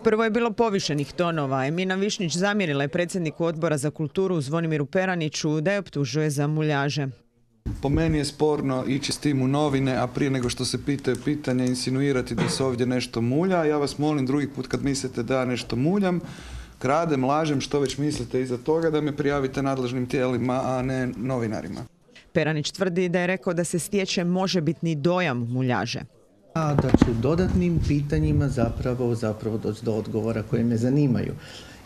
Prvo je bilo povišenih tonova. Emina Višnjić zamjerila je predsjedniku Odbora za kulturu Zvonimiru Peraniću da je optužuje za muljaže. Po meni je sporno ići s tim u novine, a prije nego što se pitaju pitanja insinuirati da se ovdje nešto mulja. Ja vas molim drugi put kad mislite da ja nešto muljam, kradem, lažem, što već mislite iza toga, da me prijavite nadležnim tijelima, a ne novinarima. Peranić tvrdi da je rekao da se stječe možebitni dojam muljaže. A da će dodatnim pitanjima zapravo doći do odgovora koje me zanimaju.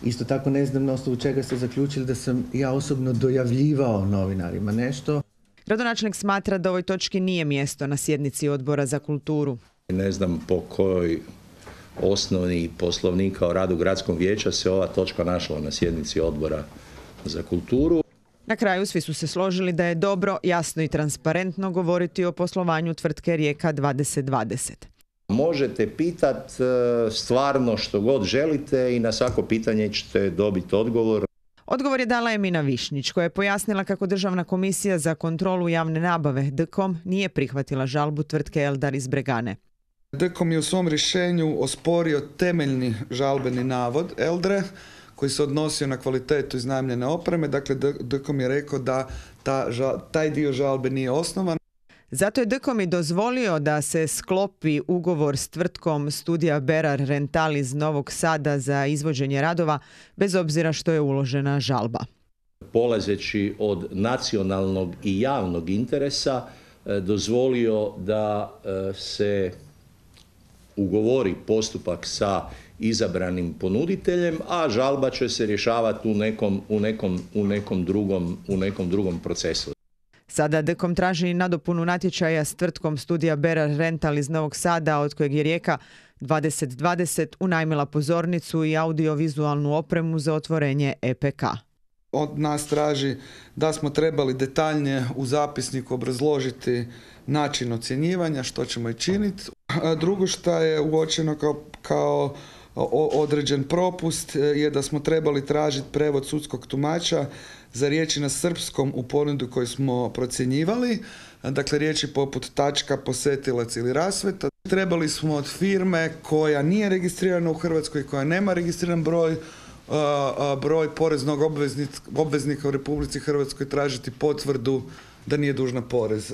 Isto tako ne znam na osnovu čega ste zaključili da sam ja osobno dojavljivao novinarima nešto. Gradonačelnik smatra da ovoj točki nije mjesto na sjednici Odbora za kulturu. Ne znam po kojoj osnovi Poslovnika o radu gradskog vijeća se ova točka našla na sjednici Odbora za kulturu. Na kraju svi su se složili da je dobro, jasno i transparentno govoriti o poslovanju tvrtke Rijeka 2020. Možete pitati stvarno što god želite i na svako pitanje ćete dobiti odgovor. Odgovor je dala Emina Višnjić, koja je pojasnila kako Državna komisija za kontrolu javne nabave DKOM nije prihvatila žalbu tvrtke Eldar iz Bregane. DKOM je u svom rješenju osporio temeljni žalbeni navod Eldre, koji se odnosio na kvalitetu iznajmljene opreme. Dakle, DKOM je rekao da taj dio žalbe nije osnovan. Zato je DKOM i dozvolio da se sklopi ugovor s tvrtkom Studija Berar Rental iz Novog Sada za izvođenje radova, bez obzira što je uložena žalba. Polazeći od nacionalnog i javnog interesa, dozvolio da se ugovori postupak sa izabranim ponuditeljem, a žalba će se rješavati u nekom drugom procesu. Sada DKOM traži nadopunu natječaja s tvrtkom Studija Berar Rental iz Novog Sada, od kojeg je Rijeka 2020 unajmila pozornicu i audiovizualnu opremu za otvorenje EPK. Od nas traži da smo trebali detaljnije u zapisniku obrazložiti način ocjenjivanja, što ćemo i činiti. Drugo što je uočeno kao određen propust je da smo trebali tražiti prevod sudskog tumača za riječi na srpskom u ponudu koju smo procjenjivali. Dakle, riječi poput tačka, posetilac ili rasveta. Trebali smo od firme koja nije registrirana u Hrvatskoj, koja nema registriran broj poreznog obveznika u Republici Hrvatskoj tražiti potvrdu da nije dužna porez.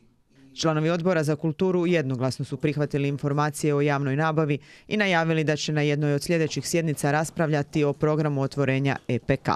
Članovi Odbora za kulturu jednoglasno su prihvatili informacije o javnoj nabavi i najavili da će na jednoj od sljedećih sjednica raspravljati o programu otvorenja EPK.